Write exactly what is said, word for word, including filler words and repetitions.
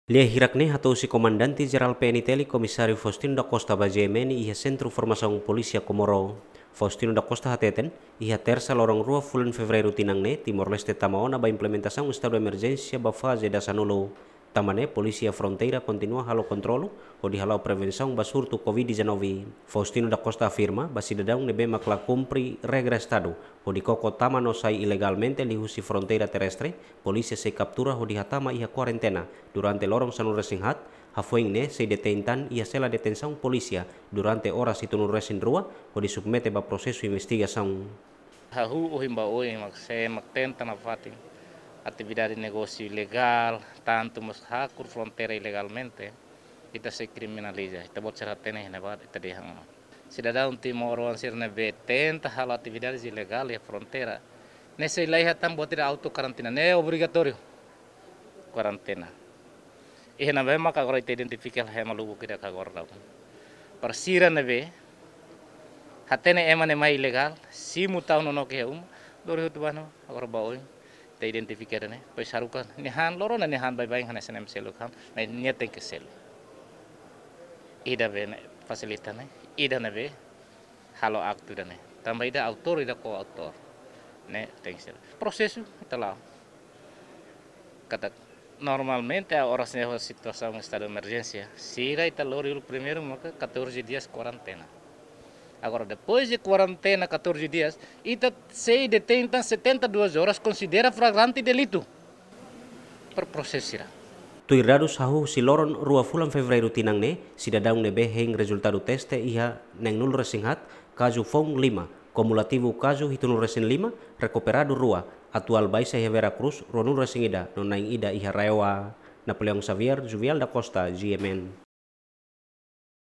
Lia hirak ne'e hato'o husi Komandante Jerál P N T L Komisáriu Faustino da Costa ba G M N iha Sentru Formasaun Polísia Comoro. Faustino da Costa hateten, iha Tersa loron rua fulan Fevereiru tinan ne'e, Timor-Leste tama ona ba implementasaun estadu emerjénsia ba faze dasanulu. Tanba ne'e, Polísia Fronteira kontinua halo kontrolu hodi hala'o prevensaun ba surtu Covid dezanove. Faustino da Costa afirma, ba sidadaun ne'ebé mak la kumpre regra estadu hodi koko tama no sai ilegalmente liuhusi fronteira terrestre, polísia sei kaptura hodi hatama iha kuarentena durante loron sanulu-resin-haat, hafoin ne'e sei detein tan iha sela detensaun polísia durante oras hitunulu-resin-rua hodi submete ba prosesu investigasaun. Hahú ohin ba oin mak sé mak tenta nafatin atividade negósiu ilegál, tantu mós hakur fronteira ilegalmente, ita sei kriminaliza, ita-boot sira hatene iha ne'ebá, ita dehan ona. Sidadaun timoroan sira ne'ebé tenta halo atividades ilegál iha fronteira, ne'e sei la iha tan buat ida auto karantina, ne'e obrigatóriu kuarentena. Iha ne'ebé maka agora ita identifika hela ema lubuk ida ka agora daudaun. Para sira ne'ebé hatene ema ne'e mai ilegál, simu tau nonook iha uma, lori hotu ba ne'e, agora ba oin ita identifika ida-ne'e, depois haruka nia han, lorona nia han baibain hanesan ema seluk han, mas nia tenke selu. Ida be ne'e fasilita ne'e, ida ne'ebé halo aktu ida-ne'e. Tanba ida autór, ida koautór. Ne'e tenke selu. Prosesu ita la'o. Katak normalmente oras ne'e situasaun estadu emerjénsia, sira ita lori uluk primeiru maka catorze dias kuarentena. Agora, depois de kuarentena catorze dias, ita sei detein tan setenta e duas horas, konsidera flagrante delitu. Para prosesu sira. Tuir dadus hahú husi loron rua fulan Fevereiru tinan ne'e, sidadaun ne'ebé hein rezultadu teste iha neenulu-resin-haat, kazu foun lima, kumulativu kazu hitunulu-resin-lima, rekuperadu rua, atuál baixa iha Vera Cruz, ruanulu-resin-ida, no na'in ida iha RAEOA. Napoleão Xavier, Juvial da Costa, G M N.